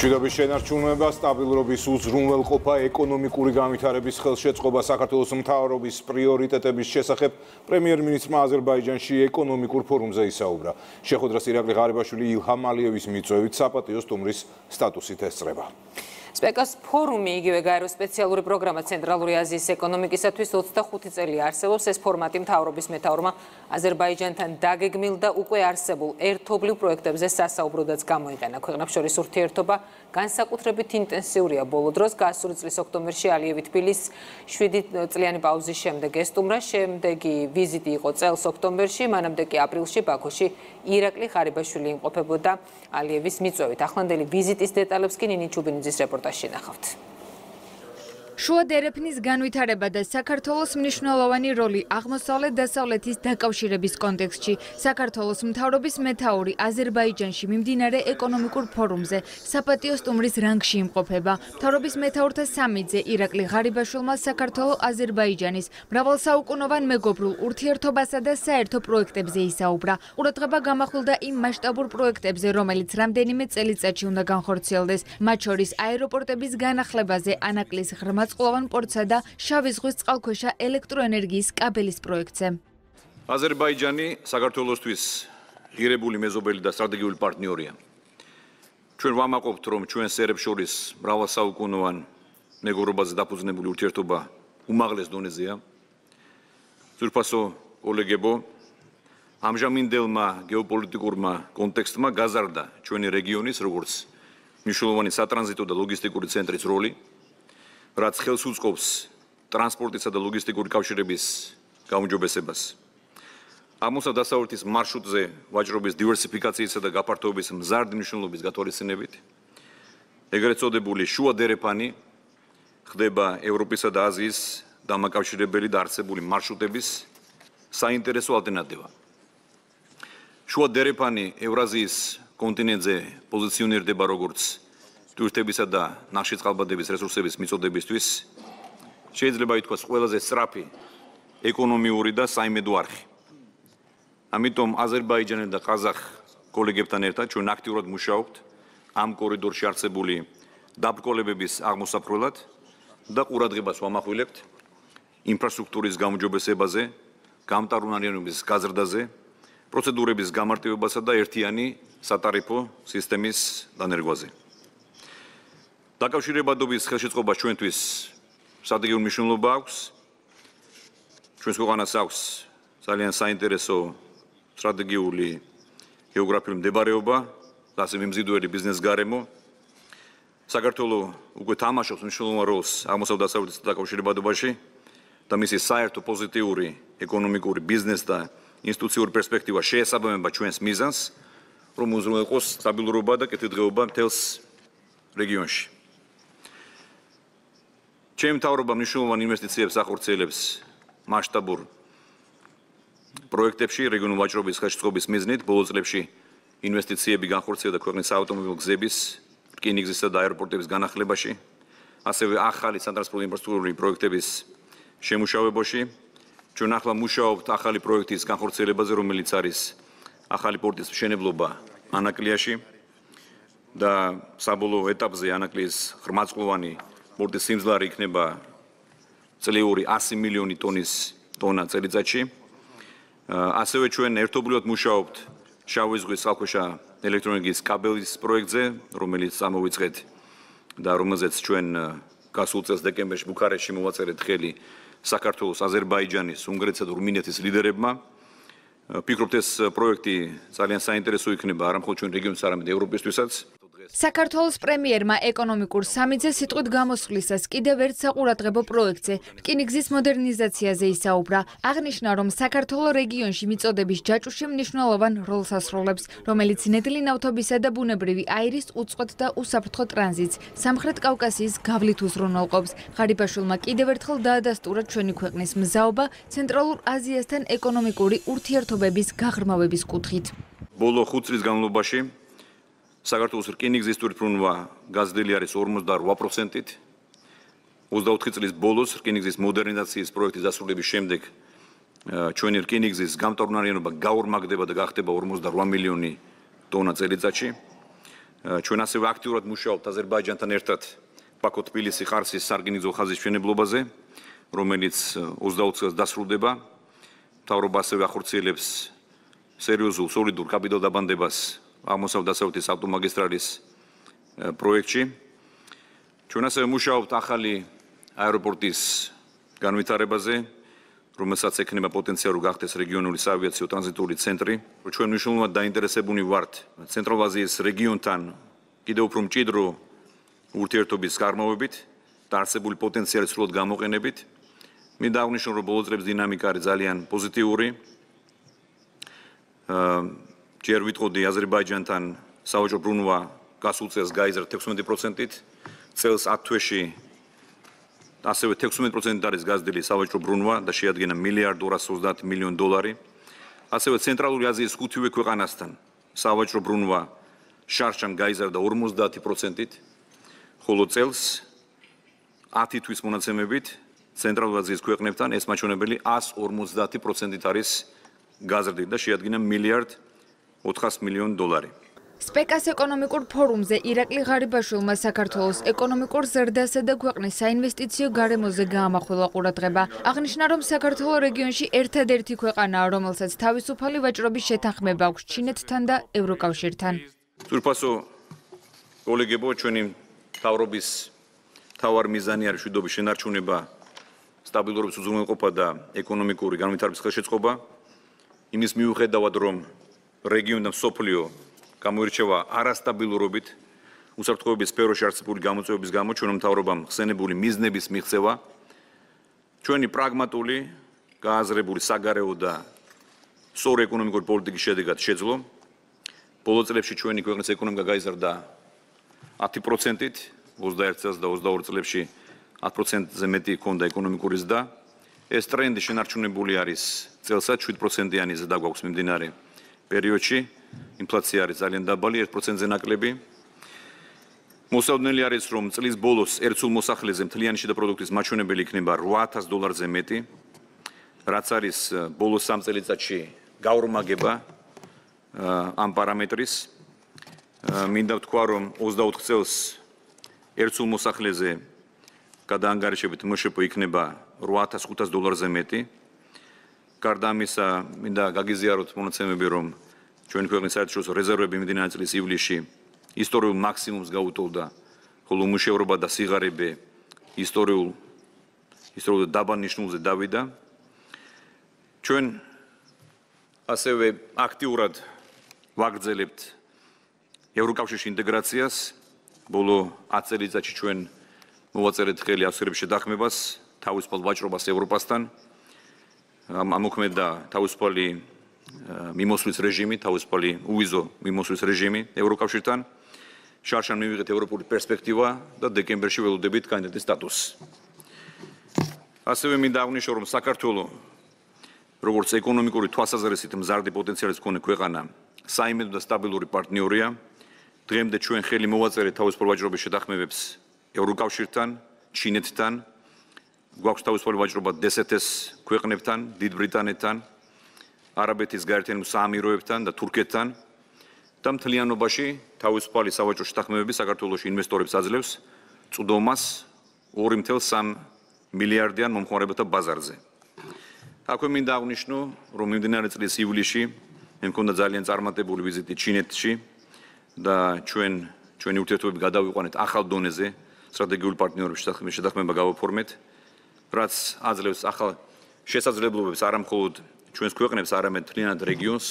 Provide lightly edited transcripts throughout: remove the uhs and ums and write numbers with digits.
მშვიდობის შენარჩუნება, სტაბილურობის უზრუნველყოფა, ეკონომიკური განვითარების ხელშეწყობა საქართველოს მთავრობის პრიორიტეტების შესახებ პრემიერ-მინისტრმა აზერბაიჯანში ეკონომიკურ ფორუმზე ისაუბრა. შეხვედრას ირაკლი ღარიბაშვილი ილჰამ ალიევის მიწვევით საპატიო სტუმრის სტატუსით ესწრება. სპეკას ფორუმი იგივე გაეროს სპეციალური პროგრამა ცენტრალური აზიის ეკონომიკისათვის 25 წელი არსებობს. ეს ფორმატი მთავრობის მეთაურმა აზერბაიჯანთან დაგეგმილ და უკვე არსებულ ერთობლივ პროექტებზე სასაუბროდაც გამოიყენა. ქვეყნებს შორის ურთიერთობა განსაკუთრებით ინტენსიურია ბოლო დროს. გასული წლის ოქტომბერში ალიევი თბილის 7 წლიანი პაუზის შემდეგ ესტუმრა. შემდეგი ვიზიტი იყო წელს ოქტომბერში, მანამდე კი აპრილში ბაქოში ირაკლი ღარიბაშვილი იმყოფებოდა ალიევის მიწვევით. ახლანდელი ვიზიტის დეტალებს კი ნინი ჩუბინიძის რეპორტაჟში ნახავთ. შუა დერეფნის განვითარება და საქართველოს მნიშვნელოვანი როლი აღმოსავლეთ-დასავლეთის დაკავშირების კონტექსტში. საქართველოს მთავრობის მეთაური აზერბაიჯანში მიმდინარე ეკონომიკურ ფორუმზე საპატიო სტუმრის რანგში იმყოფება. მთავრობის მეთაურთა სამიძე ირაკლი ღარიბაშვილმა საქართველო-აზერბაიჯანის მრავალსაუკუნოვან მეგობრულ ურთიერთობასა და საერთო პროექტებზე ისაუბრა. ყურადღება გამახვილდა იმ მასშტაბურ პროექტებზე, რომელიც რამდენიმე წელიწადში უნდა განხორციელდეს, მათ შორის აეროპორტების განახლებაზე, ანაკლის ღრმაწყლოვან პორტსა და შავი ზღვის წყალქვეშა ელექტროენერგიის კაბელის პროექტზე. აზერბაიჯანი საქართველოსთვის ღირებული მეზობელი და სტრატეგიული პარტნიორია. ჩვენ ვამაყობთ, რომ ჩვენ სერებს შორის მრავალსაუკუნოვან მეგობრობაზე დაფუძნებული ურთიერთობა უმაღლეს დონეზეა. ძვირფასო კოლეგებო, ამჟამინდელმა გეოპოლიტიკურმა კონტექსტმა გაზარდა ჩვენი რეგიონის როგორც მნიშვნელოვანი სატრანზიტო და ლოგისტიკური ცენტრის როლი, რაც ხელს უწყობს ტრანსპორტისა და ლოგისტიკური კავშირების გაუმჯობესებას. აღმოსავლეთ-დასავლეთის მარშრუტზე ვაჭრობის დივერსიფიკაციისა და გაფართოების მზარდი მნიშვნელობის გათვალისწინებით, ეგრეთ წოდებული შუა დერეფანი ხდება ევროპისა და აზიის დამაკავშირებელი და არსებული მარშრუტების საინტერესო ალტერნატივა. შუა დერეფანი ევრაზიის კონტინენტზე პოზიციონირდება როგორც ტურისტებისა და ნახშირწყალბადების რესურსების მიწოდებისთვის, შეიძლება ითქვას ყველაზე სწრაფი ეკონომიური და საიმედო არხი. ამიტომ აზერბაიჯანი და ყაზახ კოლეგებთან ერთად ჩვენ აქტიურად მუშაობთ ამ კორიდორში არსებული დაბრკოლებების აღმოსაფრველად და ყურადღებას ვამახვილებთ ინფრასტრუქტურის გაუმჯობესებაზე, გამტარუნარიანობის გაზრდაზე, პროცედურების გამარტივებასა და ერთიანი სატარიფო სისტემის დანერგვაზე. დაკავშირებადობის ხელშეწყობა ჩვენთვის სტრატეგიული მნიშვნელობა აქვს. ჩვენს ქვეყანას აქვს ძალიან საინტერესო სტრატეგიული გეოგრაფიული მდებარეობა, ასე მიმზიდველი ბიზნეს გარემო. საქართველოს უკვე თამაშობს მნიშვნელოვან როლს აღმოსავლეთ-დასავლეთის დაკავშირებადობაში და მისი საერთო პოზიტიური ეკონომიკური ბიზნეს და ინსტიტუციური პერსპექტივა შეესაბამება ჩვენს მიზანს, რომ უზრუნველყოს სტაბილურობა და კეთილდღეობა მთელს რეგიონში. ჩემი მთავრობა მნიშვნელოვან ინვესტიციებს ახორციელებს მასშტაბურ პროექტებში რეგიონულ ვაჭრობის ხელშეწყობის მიზნით. ბოლო წლებში ინვესტიციები განხორციელდა ქვეყნის საავტომობილო გზების, რკინიგზისა და აეროპორტების განახლებაში, ასევე ახალი სატრანსპორტო ინფრასტრუქტურული პროექტების შემუშავებაში. ჩვენ ახლა მუშაობთ ახალი პროექტის განხორციელებაზე, რომელიც არის ახალი პორტის მშენებლობა ანაკლიაში და საბოლოო ეტაპზე ანაკლის ღრმაწყლოვანი პორტის სიმძლავრე იქნება წლიური 100 მილიონი ტონა წელიწადში. ასევე ჩვენ ერთობლივად მუშაობთ შავი ზღვის წყალქვეშა ელექტროენერგიის კაბელის პროექტზე, რომელიც წამოვიწყეთ და რომელზეც ჩვენ გასულ წელს დეკემბერში ბუქარესტში მოვაწერეთ ხელი საქართველოს, აზერბაიჯანის, უნგრეთსა და რუმინეთის ლიდერებმა. ვფიქრობთ, ეს პროექტი ძალიან საინტერესო იქნება არა მხოლოდ ჩვენ რეგიონის, არამედ ევროპისთვისაც. საქართველოს პრემიერმა ეკონომიკურ სამიძე სიტყვით გამოსვლისას კიდევ ერთ საყურადღებო პროექტზე, რკინიგზის მოდერნიზაციაზე ისაუბრა. აღნიშნა, რომ საქართველოს რეგიონში მიწოდების ჯაჭვში მნიშვნელოვან როლს ასრულებს, რომელიც ნედლი ნავთობისა და ბუნებრივი აირის უწყვეტ და უსაფრთხო ტრანზიტს სამხრეთ კავკასიის გავლით უზრუნველყოფს. ღარიბაშვილმა კიდევ ერთხელ დაადასტურა ჩვენი ქვეყნის მზაობა ცენტრალურ აზიასთან ეკონომიკური ურთიერთობების გაღრმავების კუთხით. ბოლო 5 წლის განმავლობაში საქართველოს რკინიგზის თვითმფრინავა გაზრდილი არის 48%-ით. 24 წლის ბოლოს რკინიგზის მოდერნიზაციის პროექტის დასრულების შემდეგ ჩვენი რკინიგზის გამტარუნარიანობა გაორმაგდება და გახდება 48 მილიონი ტონა წელიწადში. ჩვენ ასევე აქტიურად მუშაობთ აზერბაიჯანთან ერთად ბაქო-თბილისი-ყარსის სარკინიგზო ხაზის მშენებლობაზე, რომელიც 20 წელს დასრულდება. მთავრობა ასევე ახორციელებს სერიოზულ სოლიდურ კაპიტალდაბანდებას აღმოსავლეთ-დასავლეთის ავტომაგისტრალის პროექტში. ჩვენ ასევე მუშაობთ ახალი აეროპორტის განვითარებაზე, რომელსაც ექნება პოტენციალი რომ გახდეს რეგიონული საავიაციო ტრანზიტული ცენტრი. ჩვენ მნიშვნელოვნად დაინტერესებული ვართ ცენტრალურ აზიის რეგიონთან კიდევ უფრო მჭიდრო ურთიერთობის გარმოვებით და არსებული პოტენციალის სრულად გამოყენებით. მინდა აღნიშნო, რომ ბოლო წლების დინამიკა არის ძალიან პოზიტიური. ჯერ ვიტყოდი აზერბაიჯანთან სავაჭრო ბრუნვა გასულ წელს გაიზარდა 16%-ით, წელს 10 თვეში ასევე 16% არის გაზრდილი სავაჭრო ბრუნვა და შეადგენა $1.230 მილიარდი. ასევე ცენტრალური აზიის 5-ვე ქვეყანასთან სავაჭრო ბრუნვა შარშან გაიზარდა 50%-ით, ხოლო წელს 10 თვის მონაცემებით ცენტრალური აზიის ქვეყნებთან ეს მაჩვენებელი 150%-ით არის გაზრდილი და შეადგინა $1.4 მილიარდი. სპეკას ეკონომიკურ ფორუმზე ირაკლი ღარიბაშვილმა საქართველოს ეკონომიკურ ზრდასა და ქვეყნის საინვესტიციო გარემოზე გაამახვილა ყურადღება. აღნიშნა, რომ საქართველოს რეგიონში ერთადერთი ქვეყანაა, რომელსაც თავისუფალი ვაჭრობის შეთანხმება აქვს ჩინეთთან და ევროკავშირთან. ძვირფასო კოლეგებო, ჩვენი მთავრობის მთავარი მიზანი არის მშვიდობის შენარჩუნება, სტაბილურობის უზრუნველყოფა და ეკონომიკური განვითარების ხელშეწყობა. იმის მიუხედავად, რომ რეგიონი და მსოფლიო გამოირჩევა არასტაბილურობით, უსაფრთხოების სფეროში არსებული გამოწვევების გამო ჩვენ მთავრობამ ხსენებული მიზნების მიღწევა, ჩვენი პრაგმატული, გააზრებული საგარეო და სწორი ეკონომიკური პოლიტიკის შედეგად შეძლო. ბოლო წლებში ჩვენი ქვეყნის ეკონომიკა გაიზარდა 10%-ით, 21 წელს და 22 წლებში 10%-ზე მეტი ჰქონდა ეკონომიკური ზრდა. ეს ტრენდი შენარჩუნებული არის წელსაც 7%-იანი ზრდა გვაქვს მიმდინარე პერიოდში. ინფლაცია არის ძალიან დაბალი, 1%-ზე ნაკლები. მოსალოდნელი არის, რომ წლის ბოლოს ერთსულ მოსახლეზე მთლიანი შიდა პროდუქტის მაჩვენებელი იქნება $800-ზე მეტი, რაც არის ბოლოს 3 წელიწადში გაორმაგება ამ პარამეტრის. მინდა ვთქვა, რომ 24 წელს ერთსულ მოსახლეზე გადაანგარიშებით მშპ იქნება $8,500-ზე მეტი. გარდა ამისა, მინდა გაგიზიაროთ მონაცემები, რომ ჩვენი ქვეყნის საერთაშორისო რეზერვები მიმდინარე წლის ივლისში ისტორიულ მაქსიმუმს გაუტოლდა, ხოლო უმუშევრობა და სიღარიბე ისტორიულ დაბალ ნიშნულზე დავიდა. ჩვენ ასევე აქტიურად ვაგრძელებთ ევროკავშირის ინტეგრაციას. ბოლო 10 წელიწადში ჩვენ მოვაწერეთ ხელი ასოების შეთანხმებას, თავისუფალ ვაჭრობას ევროპასთან. ამოქმედა თავისუფალი მიმოსვლის რეჟიმი, თავისუფალი უვიზო მიმოსვლის რეჟიმი ევროკავშირთან. შარშან მივიღეთ ევროპული პერსპექტივა და დეკემბერში ველოდებით კანდიდატის სტატუსს. ასევე მინდა აღნიშნო, რომ საქართველო როგორც ეკონომიკური თვალსაზრისით მზარდი პოტენციალის მქონე ქვეყანა, საიმედო და სტაბილური პარტნიორია. დღემდე ჩვენ ხელი მოვაწერეთ თავისუფალ ვაჭრობის შეთანხმებებს ევროკავშირთან, ჩინეთთან, გვაქვს თავისუფალი ვაჭრობა DST-ს ქვეყნებთან, დიდ ბრიტანეთთან, არაბეთის გაერთიანებულ საამიროებთან და თურქეთთან და მთლიანობაში თავისუფალი სავაჭრო შეთანხმებები საქართველოში ინვესტორებს აძლევს წვდომას 2.3 მილიარდიან მომხმარებელთა ბაზარზე. აქვე მინდა აღნიშნო, რომ მიმდინარე წლის ივლისში მე მქონდა ძალიან წარმატებული ვიზიტი ჩინეთში და ჩვენი ურთიერთობები გადავიყვანეთ ახალ დონეზე, სტრატეგიული პარტნიორობის შეთანხმება გავაფორმეთ, რაც აძლევს ახალ შესაძლებლობებს არა მხოლოდ ჩვენს ქვეყნებს, არამედ მთლიანად რეგიონს.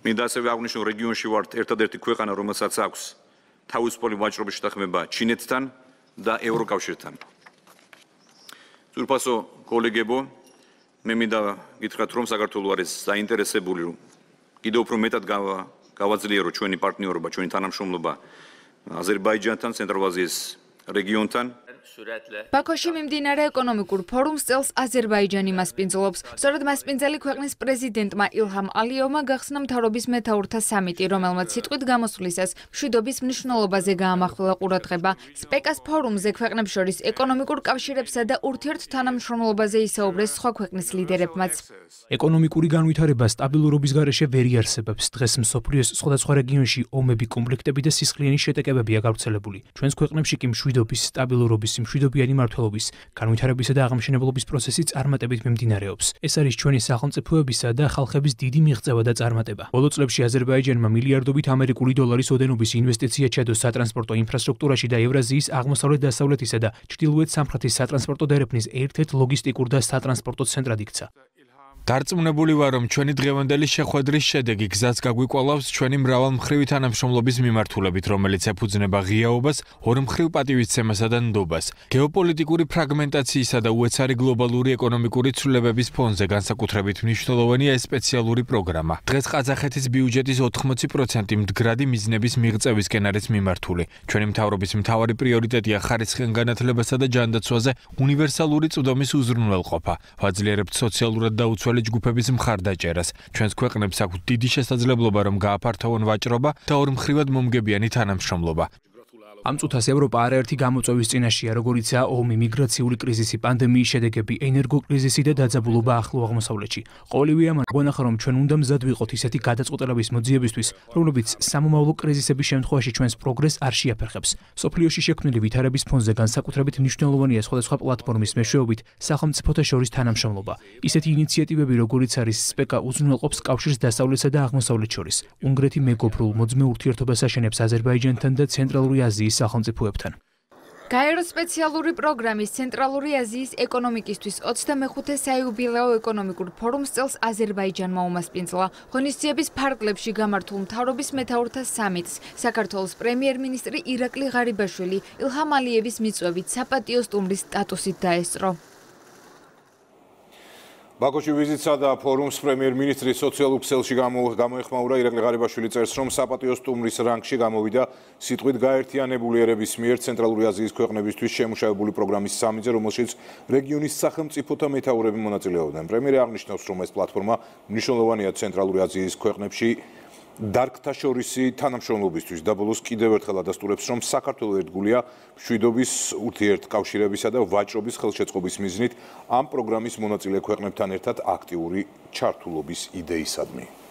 მინდა ასევე აღნიშნო, რომ რეგიონში ვართ ერთადერთი ქვეყანა, რომელსაც აქვს თავისუფალი ვაჭრობის შეთანხმება ჩინეთთან და ევროკავშირთან. ძვირფასო კოლეგებო, მე მინდა გითხრათ, რომ საქართველო არის заინტერესებული, რომ კიდევ უფრო მეტად გავაძლიერო ჩვენი პარტნიორობა, ჩვენი თანამშრომლობა აზერბაიჯანთან, ცენტრალურ აზიის რეგიონთან. ბაქოში მიმდინარე ეკონომიკურ ფორუმს წელს აზერბაიჯანი მასპინძლობს. სწორედ მასპინძელი ქვეყნის პრეზიდენტმა ილჰამ ალიევმა გახსნა მთავრობის მეთაურთა სამიტი, რომელმაც სიტყვით გამოსვლისას მშვიდობის მნიშვნელობაზე გაამახვილა ყურადღება. სპეკას ფორუმზე ქვეყნებს შორის ეკონომიკურ კავშირებსა და ურთიერთთანამშრომლობაზე ისაუბრეს სხვა ქვეყნის ლიდერებმაც. ეკონომიკური განვითარება სტაბილურობის გარეშე ვერ იარსებებს. დღეს მსოფლიოს სხვადასხვა რეგიონში ომები, კონფლიქტები და სისხლიანი შეტაკებებია გავრცელებული. ჩვენს ქვეყნებში კი მშვიდობის, სტაბილურობის, მშვიდობიანი მმართველობის, განვითარებისა და აღმშენებლობის პროცესი წარმატებით მიმდინარეობს. ეს არის ჩვენი სახელმწიფოებისა და ხალხების დიდი მიღწევა და წარმატება. ბოლო წლებში აზერბაიჯანმა მილიარდობით ამერიკული დოლარის ოდენობის ინვესტიცია ჩადო სატრანსპორტო ინფრასტრუქტურაში და ევრაზიის აღმოსავლეთ-დასავლეთისა და ჩრდილოეთ-სამხრეთის სატრანსპორტო დერეფნის ერთ-ერთ ლოგისტიკურ და სატრანსპორტო ცენტრად იქცა. Darწმუნებული ვარ, რომ ჩვენი დღევანდელი შეხვედრის შედეგი გზაც გაგვიკვალავს ჩვენი მრავალმხრივი თანამშრომლობის მიმართულებით, რომელიც ეფუძნება ღიაობას, ორმხრივ პატივისცემასა და ნდობას. გეოპოლიტიკური ფრაგმენტაციისა და უეცარი გლობალური ეკონომიკური ცვლილებების ფონზე განსაკუთრებით მნიშვნელოვანია ეს სპეციალური პროგრამა. დღეს ყაზახეთის ბიუჯეტის 80% მდგრადი მიზნების მიღწევისკენ არის მიმართული. ჩვენი მთავრობის მთავარი პრიორიტეტია ხარისხიან განათლებასა და ჯანდაცვაზე უნივერსალური წვდომის უზრუნველყოფა. ვაძლიერებთ სოციალურად დაუცველი ჯგუფების მხარდაჭერას. ჩვენს ქვეყნებს აქვთ დიდი შესაძლებლობა, რომ გააფართოვონ ვაჭრობა და ორმხრივად მომგებიანი თანამშრომლობა. ამ წუთას ევროპა არაერთი გამოწვევის წინაშეა, როგორიცაა ომი, მიგრაციული კრიზისი, პანდემიის შედეგები, ენერგოკრიზისი და დაძაბულობა ახლო აღმოსავლეთში. ყოველივე ამან გვანახა, რომ ჩვენ უნდა მზად ვიყოთ ისეთი გადაწყვეტილების მოძიებისთვის, რომლებიც სამომავლო კრიზისების შემთხვევაში ჩვენს პროგრესს არ შეაფერხებს. სოფლიოში შექმნილი ვითარების ფონზე განსაკუთრებით მნიშვნელოვანია სხვადასხვა პლატფორმის მეშვეობით სახელმწიფოთა შორის თანამშრომლობა. ისეთი ინიციატივები, როგორიც არის სპეკა, უზრუნველყოფს კავშირს დასავლეთსა და აღმოსავლეთ შორის. უნგრეთი მეგობრულ მოძმე ურთიერთობას აშენებს აზერბაიჯანთან და ცენტრალური აზიის სახელმწიფოებთან. გაეროს სპეციალური პროგრამის ცენტრალური აზიის ეკონომიკისთვის 25-ე საიუბილეო ეკონომიკურ ფორუმს წელს აზერბაიჯანმა უმასპინძლა. ღონისძიების ფარგლებში გამართულ მთავრობის მეთაურთა სამიტს საქართველოს პრემიერ-მინისტრი ირაკლი ღარიბაშვილი ილჰამ ალიევის მიწვევით საპატიო სტუმრის სტატუსით დაესწრო. ბაქოში ვიზიტსა და ფორუმს პრემიერ-მინისტრი სოციალურ ქსელში გამოეხმაურა. ირაკლი ღარიბაშვილი წერს, რომ საპატიო სტუმრის რანგში გამოვიდა სიტყვით გაერთიანებული ერების მიერ ცენტრალური აზიის ქვეყნებისთვის შემუშავებული პროგრამის სამიძე, რომელშიც რეგიონის სახელმწიფოთა მეთაურები მონაწილეობდნენ. პრემიერი აღნიშნავს, რომ ეს პლატფორმა მნიშვნელოვანია ცენტრალური აზიის ქვეყნებში დარგთაშორისი თანამშრომლობისთვის და ბოლოს კიდევ ერთხელ ადასტურებს, რომ საქართველო ერთგულია მშვიდობის, ურთიერთკავშირებისა და ვაჭრობის ხელშეწყობის მიზნით ამ პროგრამის მონაწილე ქვეყნებთან ერთად აქტიური ჩართულობის იდეისადმი.